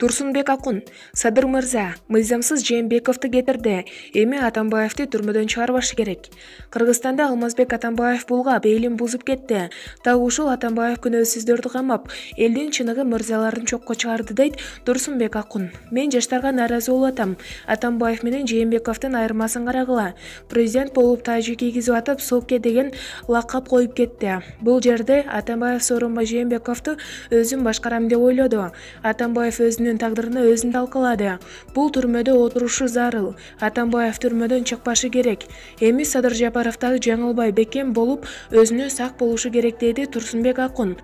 Турсунбек Акун: Садыр мырза, мыйзамсыз Жээнбековду кетирди. Эми Атамбаевди түрмөдөн чыгарбашы керек. Кыргызстанда Алмазбек Атамбаев булгап, элин бузуп кетти. Так ушул Атамбаев күнөөсүздөрдү камап, элдин чыныгы мырзаларын чокко чыгарды, дейт Турсунбек Акун. Мен жаштарга нааразы болуп атам. Атамбаев менен Жээнбековдун айырмасын карагыла. Президент болуп тажы кийгизип атып, Соке деген лакап коюп кетти. Бул жерде Атамбаев Сооронбай Жээнбековду өзүм башкарам деп ойлоду. Атамбаев өзүнүн тагдырын өзүн талкалады. Бул түрмөдө отурушу зарыл. Атамбаев түрмөдөн чыкпашы керек. Эми Садыр Жапаровдагы жаңылбай бекем болуп, өзүнө сак болушу керек, деди Турсунбек Акун.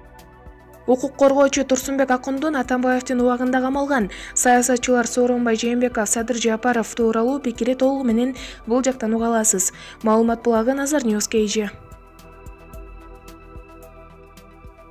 Укук коргоочу Турсунбек Акундун Атамбаевдин убагында камалган саясатчылар Сооронбай Жээнбеков, Садыр Жапаров тууралуу пикири толугу менен бул жактан уга аласыз. Маалымат булагы Назар Ньюс KG.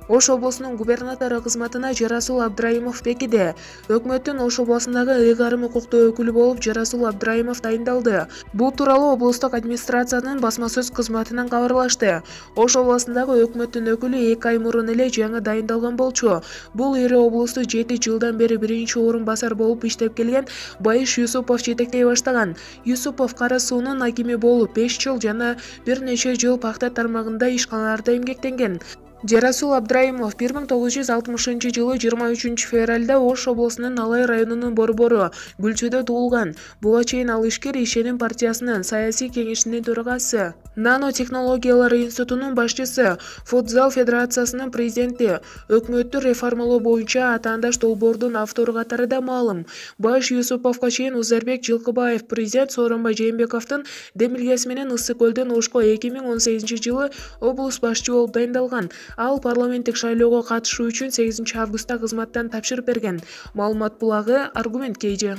Ош облусунун губернатору кызматына Жарасул Абдраимов бекиди. Өкмөттүн Ош облусундагы ыйгарым укуктуу өкүлү болуп Жарасул Абдраимов дайындалды. Бул тууралуу облустук администрациянын басма сөз кызматынан кабарлашты. Ош облусундагы өкмөттүн өкүлү 2 ай мурун эле жаңы дайындалган болчу. Бул ири облусту 7 жылдан бери биринчи орун басар болуп иштеп келген Байыш Юсупов жетектей баштаган. Юсупов Кара суунун акими болуп 5 жыл жана бир нече жыл пахта тармагында ишканаларда эмгектенген. Жарасул Абдраимов 1960 жылы 23 февралда Ош облусунун Алай районунун Борбору Гүлчөдө туулган. Буга чейин ал ишкер Ишеним партиясынын саясий кеңешинин төрагасы, Нано технологиялар институтунун башчысы, Футзал федерациясынын президенти, өкмөттү реформалоо боюнча атаандаш долбоордун автору катарында маалым. Байыш Юсуповго чейин Узарбек Жылкыбаев президент Сооронбай Жээнбековдун демилгеси менен Ысык көлдөн Ошко 2018 жылы облус башчы болуп дайындалган. Ал парламенттик шайлоого катышуу үчүн 8 августта кызматтан тапшырып берген. Маалымат булагы Аргумент KG.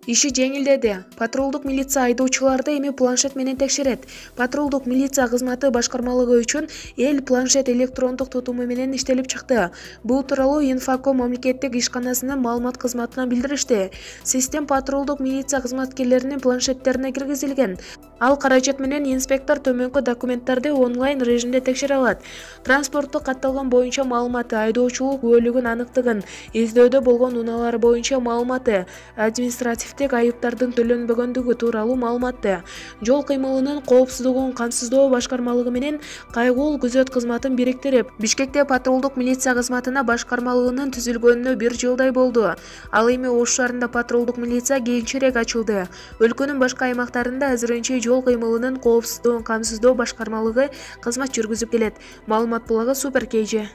Иши жеңилдеди. Патрулдук милиция айдоочуларды эми планшет менен текшерет. Патрулдук милиция кызматы башкармалыгы үчүн эл планшет электрондук тутуму менен иштелип чыкты. Бул тууралуу Инфоком мамлекеттик ишканасынын маалымат кызматынан билдиришти. Систем патрулдук милиция кызматкерлеринин планшеттерине киргизилген. Ал каражат менен инспектор төмөнкү документтарды онлайн режимде текшере алат. Транспорттук катталган боюнча маалыматы, айдоочулук күбөлүгүн аныктыгын, издөөдө болгон унаалар боюнча маалыматы, административдик айыптардын төлөнбөгөндүгү тууралуу маалыматты, жол кыймылынын коопсуздугун камсыздоо башкармалыгы менен кайгуул күзөт кызматын бириктирип, Бишкекте патрулдук милиция кызматына башкармалыгынын түзүлгөнүнө 1 жылдай болду. Ал эми Ош шаарында патрулдук милиция кийинчерээк ачылды. Өлкөнүн башка аймактарында азырынча жол кыймылынын коопсуздугун камсыздоо башкармалыгы кызмат жүргүзүп келет. Маалымат булагы Супер KG.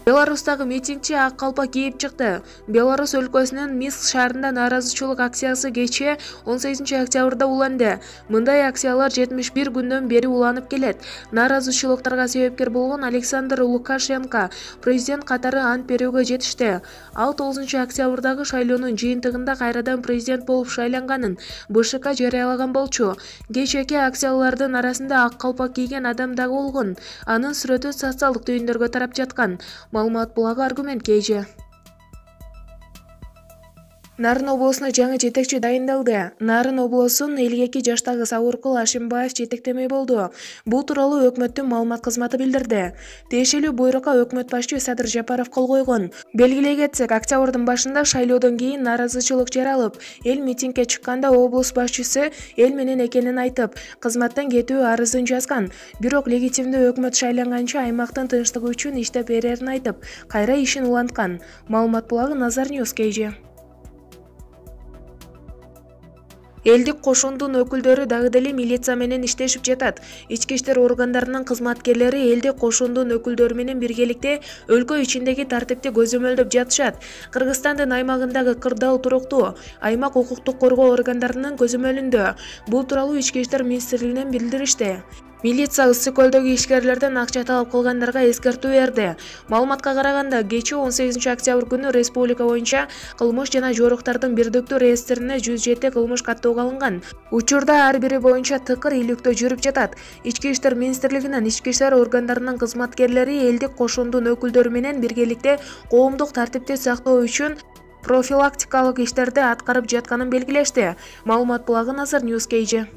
Беларустагы митингчи ак калпак кийип чыкты. Беларус өлкөсүнүн Минск шаарында нааразычылык акциясы кечээ 18 октябрда уланды. Мындай акциялар 71 күндөн бери уланып келет. Нааразычылыктарга себепкер болгон Александр Лукашенко президент катары ант берүүгө жетишти. Ал 9 октябрдагы шайлоонун жыйынтыгында кайрадан президент болуп шайланганын БШК жарыялаган болчу. Кечээки акциялардын арасында ак калпак кийген адам дагы болгон. Анын сүрөтү социалдык түйүндөргө тарап жаткан. Маалымат булагы Аргумент KG. Нарын облусуна жаңы жетекчи дайындалды. Нарын облусунун 52 жаштагы Сабыркул Ашимбаев жетектемей болду. Бул тууралуу өкмөттүн маалымат кызматы билдирди. Тиешелүү буйрукка өкмөт башчы Садыр Жапаров кол койгон. Белгилей кетсек, октябрдын башында шайлоодон кийин нааразычылык жаралып, эл митингге чыкканда облус башчысы эл менен экенин айтып, кызматтан кетүү арызын жазган. Бирок легитимдүү өкмөт шайланганча аймактын тынчтыгы үчүн иштеп берерин айтып, кайра ишин уланткан. Маалымат булагы Назар Ньюс KG. Элдик кошундун өкүлдөрү дагы деле милиция менен иштешип жатат. Ички иштер органдарынын кызматкерлери элдик кошундун өкүлдөрү менен биргеликте өлкө ичиндеги тартипти көзөмөлдөп жатышат. Кыргызстандын аймагындагы кырдаал туруктуу. Аймак укуктук коргоо органдарынын көзөмөлүндө. Бул тууралуу Ички иштер министрлигинен билдиришти. Милиция Ысык көлдөгү ишкерлерден акча талап кылгандарга эскертүү берди. Маалыматка караганда, кечээ 18 октябрь күнү республика боюнча кылмыш жана жоруктардын бирдиктүү реестрине 107 кылмыш каттоого алынган. Учурда ар бири боюнча тыкыр иликтөө жүрүп жатат. Ички иштер министрлигинин ички иштер органдарынын кызматкерлери элдик кошундун өкүлдөрү менен биргеликте коомдук тартипти сактоо үчүн профилактикалык иштерди аткарып жатканын белгилешти. Маалымат булагы Назар Ньюс KG.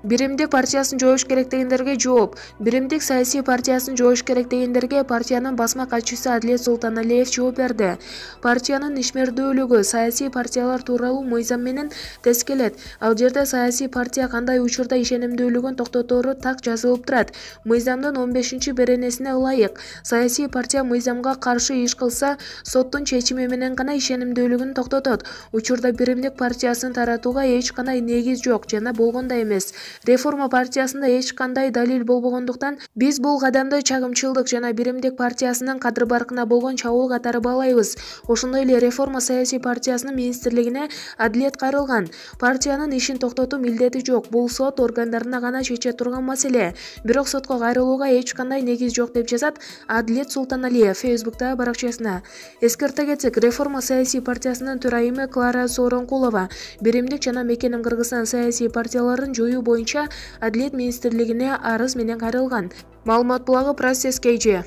Биримдик партиясын жоош керек дегендерге жооп. Биримдик саясий партиясын жоош керек дегендерге партиянын басма катчысы Адилет Султаналиев жооп берди. Партиянын ишмердүүлүгү саясий партиялар тууралуу мыйзам менен тескелет. Ал жерде саясий партия кандай учурда ишенимдүүлүгүн токтотору так жазылып турат. Мыйзамдын 15-беренесине ылайык, саясий партия мыйзамга каршы иш кылса, соттун чечими менен гана ишенимдүүлүгүн токтотот. Учурда биримдик партиясын таратууга эч кандай негиз жок жана болгон да эмес. Реформа партиясында эч кандай далил болбогондуктан биз бул кадамды чагымчылдык жана биримдик партиясынын кадыр-баркына болгон чабуул катары баалайбыз. Ошондой эле реформа саясий партиясынын министрлигине Адилет кайрылган. Партиянын ишин токтотуу милдети жок. Бул сот органдарына гана чече турган маселе. Бирок сотко кайрылууга эч кандай негиз жок деп жазат Адилет Султаналиев Facebook'тагы баракчасына. Эскерте кетсек, реформа саясий партиясынын төрайымы Клара Сооронкулова биримдик жана Мекеним Кыргызстан саясий партияларын жоюу боюнча Адилет министрлигине арыз менен кайрылган. Маалымат булагы Процесс KG.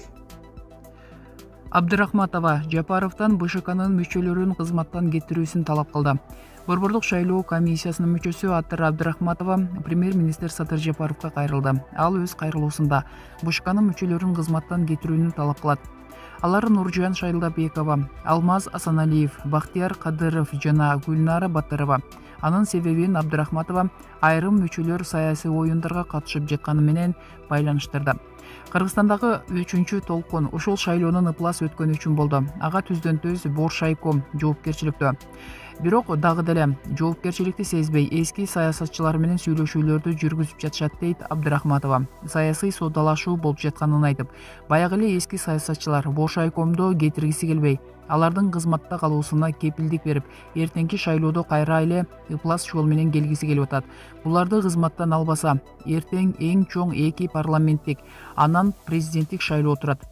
Абдрахматова Жапаровдон БШКнын мүчөлөрүн кызматтан кетирүүсүн талап кылды. Борбордук шайлоо комиссиясынын мүчөсү Аттар Абдрахматова премьер-министр Садыр Жапаровго кайрылды. Ал өз кайрылуусунда БШКнын мүчөлөрүн кызматтан кетирүүнү талап кылат. Алар Нуржан Шайлдабекова, Алмаз Асаналиев, Бактияр Кадыров жана Гүлнара Батырова. Анын себебин Абдрахматова айрым мүчөлөр саясий оюндарга катышып жатканы менен байланыштырды. Кыргызстандагы 3-чү толкун ушул шайлоонун ыплас өткөнү үчүн болду. Ага түздөн-түз Боршайком жоопкерчиликтүү. Бирок дагы деле жоопкерчиликти сезбей эски саясатчылар менен сүйлөшүүлөрдү жүргүзүп жатышат дейт Абдрахматова. Саясий соодалашуу болуп жатканын айтып, баягы эле эски саясатчылар Боршайкомду кетиргиси келбей, алардын кызматта калуусуна кепилдик берип, эртеңки шайлоодо кайра эле ыплас жол менен келгиси келип атат. Буларды кызматтан албаса, эртең эң чоң эки парламенттик, анан президенттик шайлоо турат.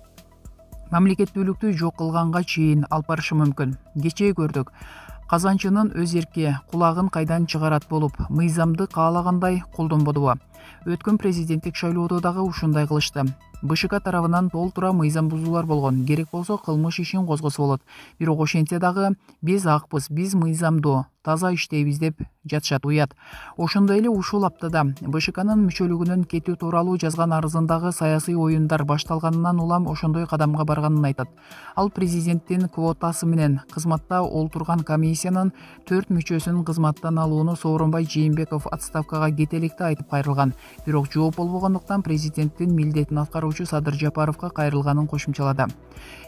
Мамлекеттүүлүктү жок кылганга чейин алып барышы мүмкүн. Кечээ көрдүк. Казанчынын өз эрки кулагын кайдан чыгарат болуп, мыйзамды каалагандай колдонбодубу? Өткөн президенттик шайлоодо дагы ушундай кылышты. БШК тарабынан толтура мыйзам бузуулар болгон. Керек болсо кылмыш ишин козгосо болот. Бирок ошентсе дагы биз акпыз, биз мыйзамдуу таза иштейбиз деп жатышат уят. Ошондой эле ушул аптада БШКнын мүчөлүгүнөн кетүү тууралуу жазган арызындагы саясий оюндар башталганынан улам ошондой кадамга барганын айтат. Ал президенттин квотасы менен кызматта олтурган комиссиянын 4 мүчөсүн кызматтан алууну Сооронбай Жээнбеков отставкага кетеликти айтып кайрылган. Бирок жооп болбогондуктан президенттин милдетин аткаруучу Садыр Жапаровго кайрылганын кошумчалады.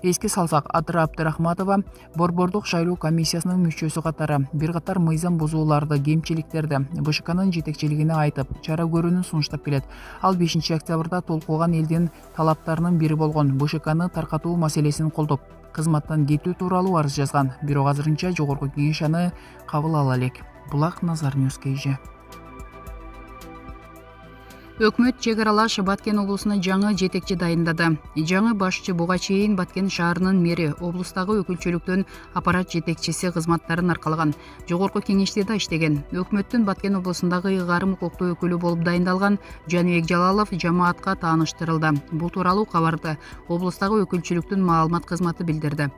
Эске салсак, Аттар Абдрахматова борбордук шайлоо комиссиясынын мүчөсү катары бир катар мыйзам бузууларды, кемчиликтерди БШКнын жетекчилигине айтып, чара көрүүнү сунуштап келет. Ал 5-октябрда толкуган элдин талаптарынын бири болгон БШКны таркатуу маселесин колдоп, кызматтан кетүү тууралуу арыз жазган. Бирок азырынча жогорку кеңеш аны кабыл ала элек. Булак Назар News KG. Өкмөт чек аралаш Баткен облусуна жаңы жетекчи дайындады. Жаңы башчы буга чейин Баткен шаарынын мэри, облустагы өкүлчүлүктүн аппарат жетекчиси кызматтарын аркалаган. Жогорку кеңеште да иштеген. Өкмөттүн Баткен облусундагы ыйгарым укуктуу өкүлү болуп дайындалган Жаныбек Жалалов жамаатка тааныштырылды. Бул тууралуу кабарды облустагы өкүлчүлүктүн маалымат кызматы билдирди.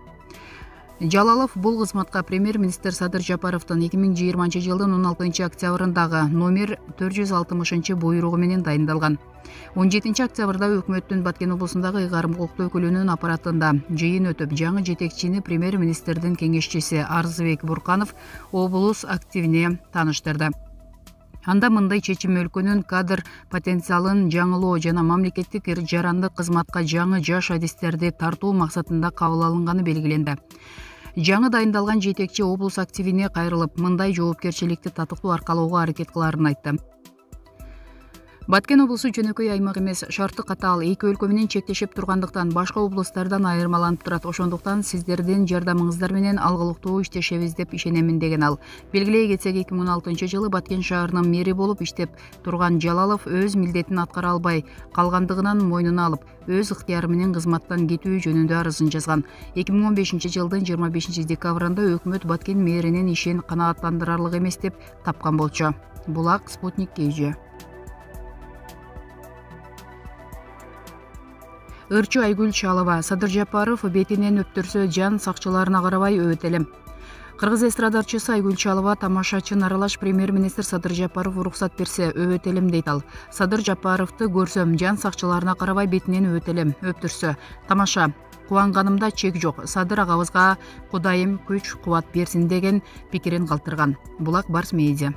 Жалалов бул кызматка премьер-министр Садыр Жапаровдун 2020 жылдын 16 октябрындагы номер 460 буйругу менен дайындалган. 17 октябрда өкмөттүн Баткен облусундагы ыйгарым укуктуу өкүлүнүн аппаратында жыйын өтүп, жаңы жетекчини премьер-министрдин кеңешчиси Арзыбек Бурканов облус активине тааныштырды. Анда мындай чечим өлкөнүн кадр потенциалын жаңылоо жана мамлекеттик жарандык кызматка жаңы жаш адистерди тартуу максатында кабыл алынганы белгиленди. Жаңы дайындалган жетекчи облус активине кайрылып, мындай жоопкерчиликти татыктуу аркалоого аракет кылаарын айтты. Баткен облусу жөнөкөй аймак эмес, шарты катаал эки өлкө менен чектешип тургандыктан башка облустардан айырмаланып турат. Ошондуктан сиздердин жардамыңыздар менен алгылыктуу иштешебиз деп ишенемин деген ал. Белгилей кетсек, 2016 жылы Баткен шаарынын мэри болуп иштеп турган Жалалов өз милдетин аткара албай калгандыгынан мойнуна алып, өз ыктыяры менен кызматтан кетүү жөнүндө арызын жазган. 2015 жылдын 25 декабрында өкмөт Баткен мэринин ишин канааттандырарлык эмес деп тапкан болчу. Булак Спутник KG. Ырчу Айгүл Чалова: Садыр Жапаров бетинен өптүрсө жан сакчыларына карабай өбөт элем. Кыргыз эстрадарчысы Айгүл Чалова тамашачын аралаш премьер-министр Садыр Жапаров уруксат берсе өбөтелем дейт ал. Садыр Жапаровду көрсөм жан сакчыларына карабай бетинен өбөтелем, өптүрсө. Тамаша. Кубанганымда чек жок. Садыр агабызга Кудайым күч, кубат берсин деген пикирин калтырган. Булак Барс Медиа.